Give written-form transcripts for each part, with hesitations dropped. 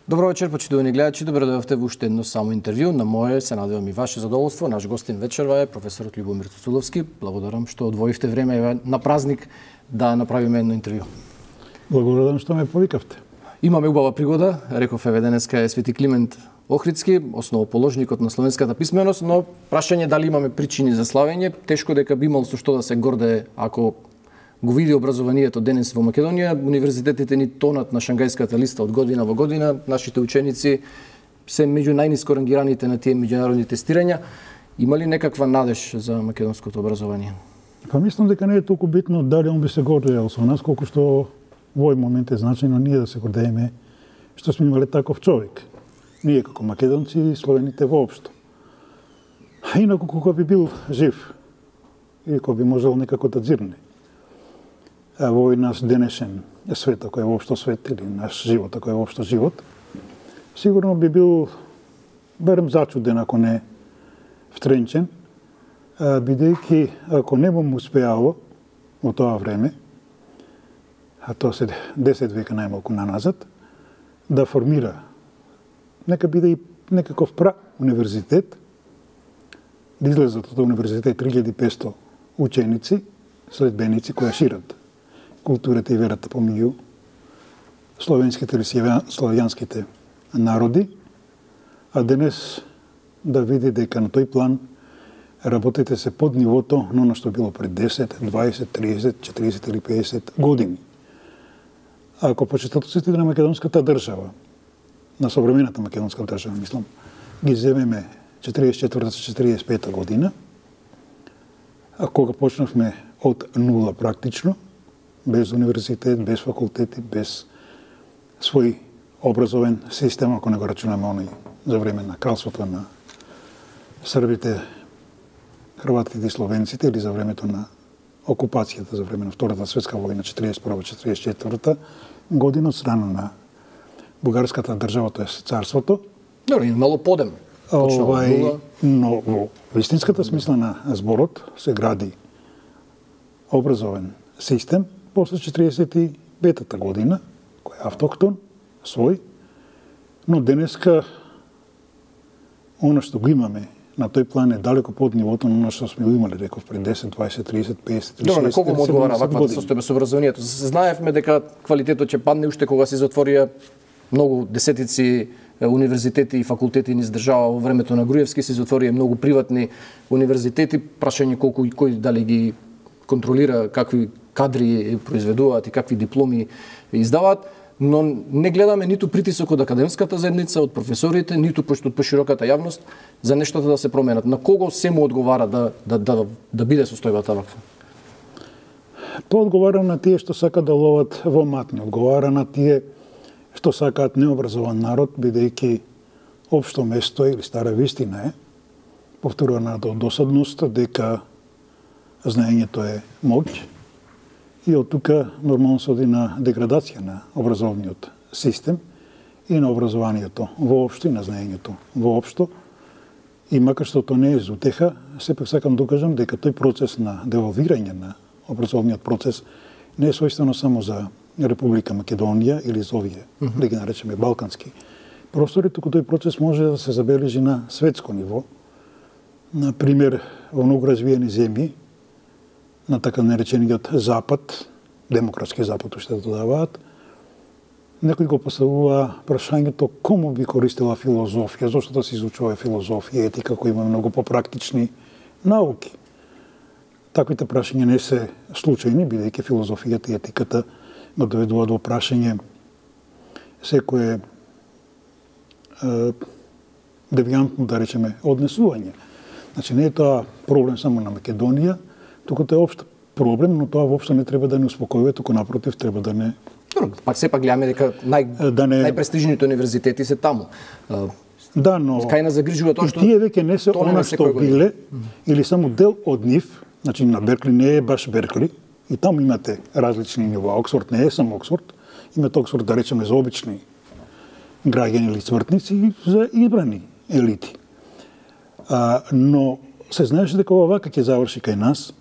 Добро вечер, почитувани гледачи. Добро дојдовте во уште едно само интервју. На мое, се надевам и ваше задоволство. Наш гостин вечерва е професорот Љубомир Цуцуловски. Благодарам што одвоивте време на празник да направиме едно интервју. Благодарам што ме повикавте. Имаме убава пригода, реков еве денеска е Свети Климент Охридски, основоположникот на словенската писменост, но прашање дали имаме причини за славење, тешко дека би имал со што да се гордее ако го види образованието денес во Македонија. Универзитетите ни тонат на Шангајската листа од година во година. Нашите ученици се меѓу најниско рангираните на тие меѓународни тестирања. Има ли некаква надеж за македонското образование? Па мислам дека не е толку битно дали он би се гордеел со нас, колку што во овој момент е значајно ние да се гордееме што сме имале таков човек. Ние како македонци и словените воопшто. А инаку кога би бил жив и кога би можел некако да дзирне во овој наш денешен свет, кој е воопшто свет, или наш живот, кој е воопшто живот, сигурно би бил барем зачуден, ако не втренчен, бидејќи ако не му успеало во тоа време, а тоа се 10 века најмалку наназад, да формира, нека биде и некаков универзитет, да излезат од универзитет 3500 ученици, следбеници кои шират културата и верата помеѓу словенските или славјанските народи, а денес да види дека на тој план работите се под нивото на оно што било пред 10, 20, 30, 40 или 50 години. Ако почетоците на македонската држава, на современата македонска држава, мислам, ги земеме 44-45 година, а кога почнавме од нула практично, без универзитет, без факултети, без свој образовен систем, ако не го рачунаме оној за време на кралството на србите, хрватите и словенците, или за времето на окупацијата за време на Втората светска војна 41-44 година од страна на бугарската држава, тоа е царството. Добро, имало подем. Но во вистинската смисла на зборот се гради образовен систем после 45-та година, кој е автохтон, свој, но денеска она што го имаме на тој план е далеко под нивото на оно што сме имали, реков, пред 10, 20, 30, 50, 30, 40, колку му одговара ваква состојба со образованието? Знаевме дека квалитетот ќе падне уште кога се затворија многу десетици универзитети и факултети низ држава во времето на Груевски, се затворија многу приватни универзитети, прашање колку и кој дали ги контролира, какви кадри произведуваат и какви дипломи издаваат, но не гледаме ниту притисок од академската заедница, од професорите, ниту од пошироката јавност за нештата да се променат. На кого се му одговара да биде состојбата ваква? Тоа одговара на тие што сакаат да ловат во матни, одговара на тие што сакаат необразован народ, бидејќи општо место или стара вистина е, повторуваната од досадност, дека знаењето е моќ, и од тука нормално се оди на деградација на образовниот систем и на образованието воопшто и на знаењето воопшто. И макар што тоа не е за утеха, сепак сакам да кажам дека тој процес на девалвирање на образовниот процес не е својствено само за Република Македонија или за овие, да ги наречеме балкански простори, туку тој процес може да се забележи на светско ниво. Например, во многу развиени земји, на така наречениот Запад, демократски Запад уште додаваат, некој го поставува прашањето кому би користила филозофија, зошто да се изучува филозофија, етика, кои има многу попрактични науки. Таквите прашања не се случајни, бидејќи филозофијата и етиката го доведува до прашање секое девијантно, да речеме, однесување. Значи, не е тоа проблем само на Македонија, туку тоа е општ проблем, но тоа воопшто не треба да не успокојува, туку напротив треба да не... Пак сепак гледаме дека најпрестижните универзитети се таму. Да, но кај нас загрижува тоа што тие веќе не се она што биле, или само дел од нив. Значи на Беркли не е баш Беркли, и таму имате различни нива. Оксфорд не е само Оксфорд, имате Оксфорд, да речеме, за обични граѓани или цвртници и за избрани елити. Но се знаеше дека ова вака ќе заврши кај нас,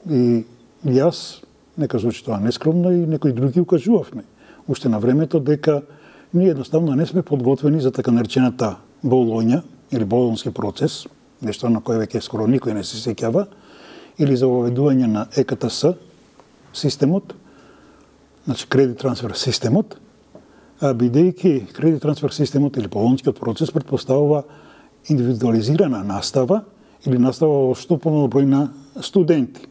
и јас, нека звучи тоа нескромно, и некои други укажувавме уште на времето дека ние едноставно не сме подготвени за така наречената Болоња или Болонски процес, нешто на кое веќе скоро никој не се сеќава, или за воведување на ЕКТС системот, значи кредит трансфер системот, бидејќи кредит трансфер системот или Болонскиот процес предпоставува индивидуализирана настава или настава во што помал број на студенти.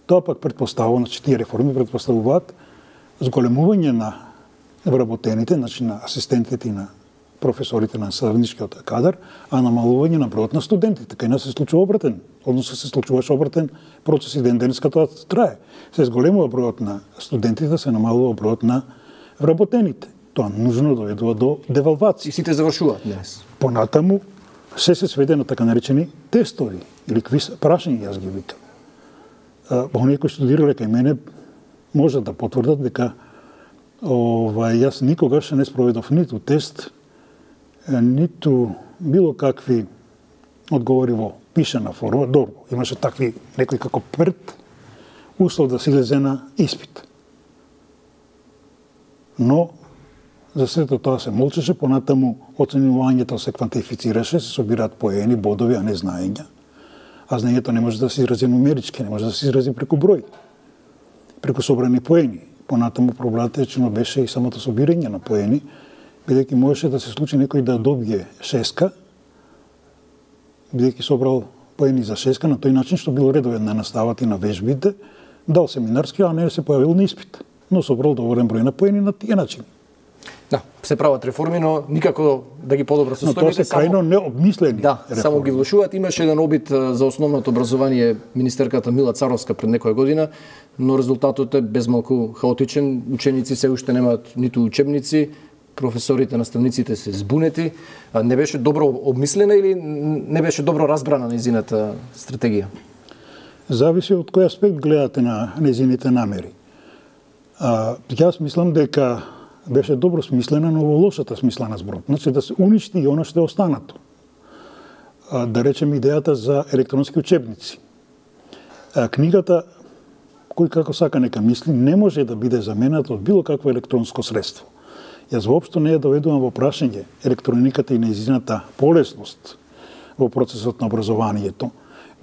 Тоа пак предпоставува, значи тие реформи предпоставуваат зголемување на вработените, значи на асистентите и на професорите на наставничкиот кадар, а намалување на бројот на студентите. Кај нас се случува обратен, односно се случуваше обратен процес и ден-денеска тоа трае. Се зголемува бројот на студентите, се намалува бројот на вработените. Тоа нужно доведува до девалвација. И сите завршуваат днес. Понатаму се сведе на така наречени тестови или квиз прашања, јас ги викам. Оние кои студирале кај мене можат да потврдат дека јас никогаш не спроведов ниту тест, ниту било какви одговори во пишана форма. Добро, имаше такви некои како пред услов да се излезе на испит. Но за сето тоа се молчеше, понатаму оценувањето се квантифицираше, се собираат поени, бодови, а не знаења. А знаењето не може да се изрази нумерички, не може да се изрази преку број, преку собрани поени. Понатаму проблематично беше и самото собирање на поени, бидејќи можеше да се случи некој да добие шеска, бидејќи собрал поени за шеска, на тој начин што бил редовен на наставата и на вежбите, дал семинарски, а не се појавил на испит, но собрал доволен број на поени на тие начини. Да, се прават реформи, но никако да ги подобрат состојбите. Но тоа се крајно необмислени реформи. Само ги влошуваат. Имаше еден обид за основното образование министерката Мила Царовска пред некоја година, но резултатот е безмалку хаотичен. Ученици се уште немаат ниту учебници, професорите, наставниците се збунети. Не беше добро обмислена или не беше добро разбрана нејзината стратегија? Зависи од кој аспект гледате на нејзините намери. Јас мислам дека беше добро смислена, но во лошата смисла на зборот. Значи да се уништи и оно што е останато. Да речем идејата за електронски учебници. Книгата, кој како сака нека мисли, не може да биде замената од било какво електронско средство. Јас воопшто не ја доведувам во прашање електрониката и нејзината полесност во процесот на образованието,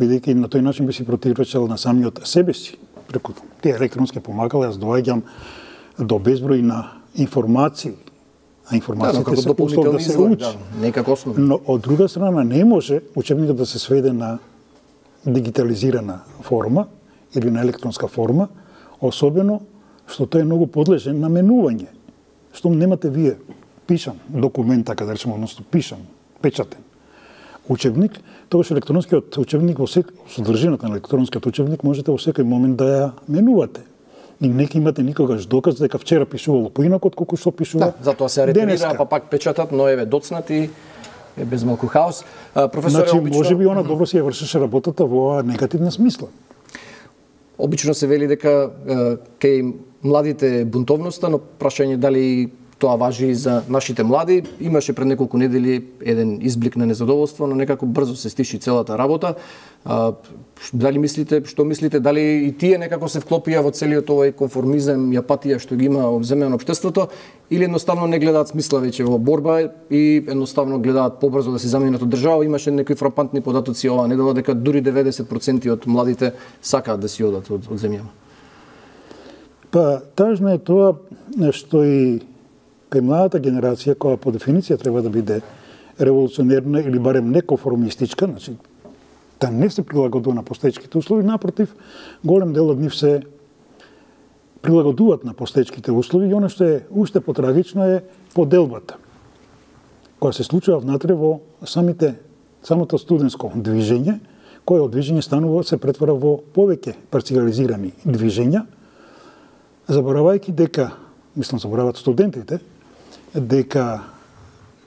бидејќи на тој начин би си противречал на самиот себе си. Преку тие електронски помагала јас доаѓам до безброј на информации, а информациите се услов да се учи. Некако основно. Но од друга страна не може учебникот да се сведе на дигитализирана форма или на електронска форма, особено што тој е многу подлежен на менување. Што немате вие пишан документ, така да речеме, односно пишан, печатен учебник, тогаш електронскиот учебник во содржината на електронскиот учебник можете во секој момент да ја менувате. И не имате никогаш доказ дека вчера пишувало поинако отколку што пишува денеска. Затоа се ретирира, па пак печатат, но еве доцнат и е без малку хаос. Професоре, значи, можеби она добро си ја вршеше работата во негативна смисла. Обично се вели дека кај младите бунтовноста, но прашање дали тоа важи и за нашите млади. Имаше пред неколку недели еден изблик на незадоволство, но некако брзо се стиши целата работа. Дали мислите, што мислите, дали и тие некако се вклопија во целиот овој конформизам и апатија што ги има земено општеството, или едноставно не гледаат смисла веќе во борба и едноставно гледаат побрзо да се заменат од држава? Имаше некои фрапантни податоци оваа недела дека дури 90% од младите сакаат да си одат од земјава. Па, тажно е тоа што и кај младата генерација, која по дефиниција треба да биде револуционерна или барем неконформистичка, значи да не се прилагодува на постоечките услови, напротив, голем дел од нив се прилагодуваат на постоечките услови и оно што е уште потрагично е поделбата, која се случува внатре во самото студентско движење, кое од движење станува се претвара во повеќе парциализирани движења, заборавајќи дека, мислам забораваат студентите, дека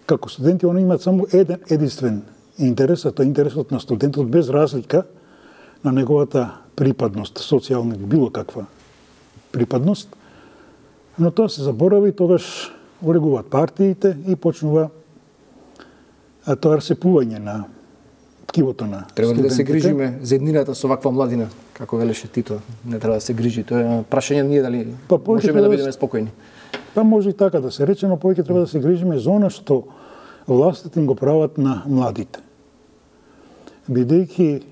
како студенти они имаат само единствен интерес, а тоа е интересот на студентот без разлика на неговата припадност, социјална или било каква припадност. Но тоа се заборави и тогаш олегуваат партиите и почнува тоа расепување на ткивото на студентите. Треба ли да се грижиме за еднината со ваква младина, како велеше Тито? Не треба да се грижи. Тоа е прашање ние дали можеме да бидеме спокојни. Па може и така да се рече, но повеќе треба да се грижиме за она што властите им го прават на младите. Бидејќи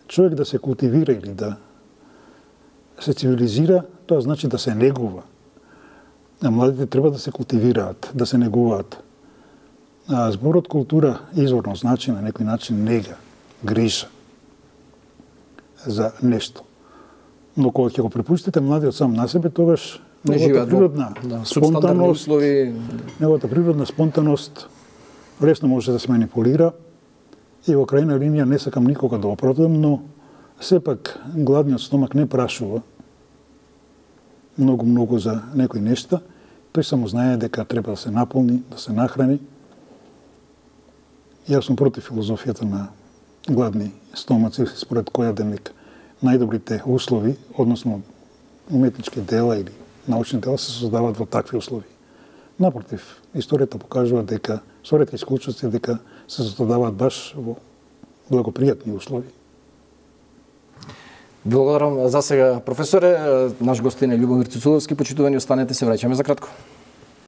човек да се култивира или да се цивилизира, тоа значи да се негува. А младите треба да се култивираат, да се негуваат. А зборот култура изворно значи на некој начин нега, грижа за нешто. Но кога ќе го препуштите младиот сам на себе, тогаш неговата природна спонтанност, неговата природна спонтаност лесно може да се манипулира и во крајна линија не сакам никога да оправдам, но сепак гладниот стомак не прашува многу за некои нешта, тој само знае дека треба да се наполни, да се нахрани. Јас сум против филозофијата на гладни стомаци, според која дека најдобрите услови, односно уметнички дела или научни дела се создаваат во такви услови. Напротив, историјата покажува дека, со ретки исклучоци, дека се создаваат баш во благопријатни услови. Благодарам за сега, професоре. Наш гостин е Љубомир Цуцуловски. Почитувани, останете, се враќаме за кратко.